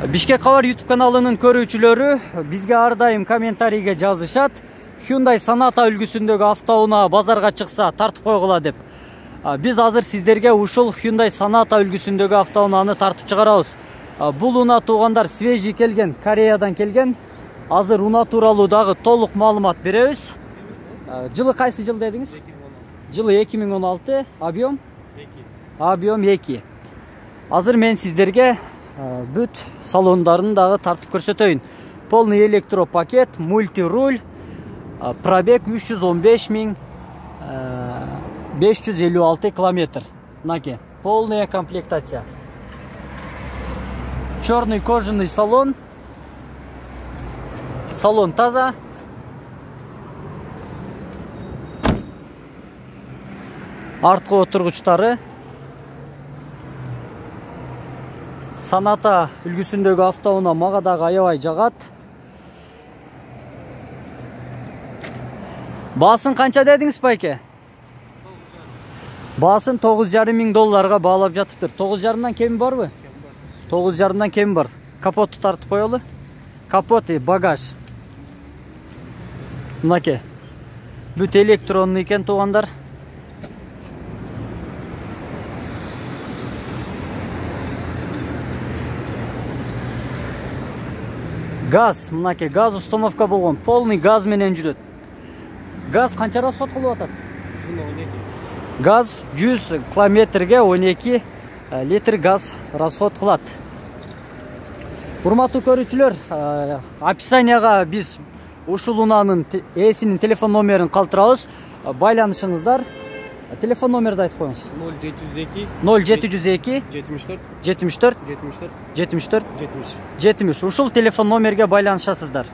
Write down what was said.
Бишкек Кабар YouTube каналынын көрүүчүлөрү бизге ар дайым комментарийге жазышат. Hyundai Sonata үлгүсүндөгү автоунаа базарга чыкса тартып койгула деп. Биз азыр сиздерге ушул Hyundai Sonata үлгүсүндөгү автоунааны тартып чыгарабыз. Бул унаа туугандар свежий келген, Кореядан келген. Азыр унаа тууралуу дагы толук маалымат беребиз. Жылы кайсы жыл дедиңиз? Жылы 2016, объем? 2. Объем 2. Азыр мен сиздерге бүт салондарын дагы тартып көрсөтөйүн. Полный электропакет, мультируль, пробег 315.556 километр. Мынакей, полная комплектация. Черный кожаный салон. Салон таза. Арткы отургучтары. Sonata үлгүсүндөгү автоунаа мага дагы аябай жагат. Баасын канча дедиңиз байке? Баасын $9,500 баалап жатыптыр. 9,5-дан кеми барбы? 9,5-дан кеми бар. Капотту тартып коелу. Капот и багаж. Мынакей. Бүт электронный экен туугандар. Газ, мынакей, газ установка болгон. Полный газ менен жүрөт. Газ канча расход кылып атат? 112. Газ 100 километрге 12 литр газ расход кылат. Урматтуу көрүүчүлөр, описанияга биз ушул унаанын ээсинин телефон номерин калтырабыз. Байланышыңыздар. Телефон номерди айтып коюңуз. 0702 74 70. Ушул телефон номерге байланышасыздар.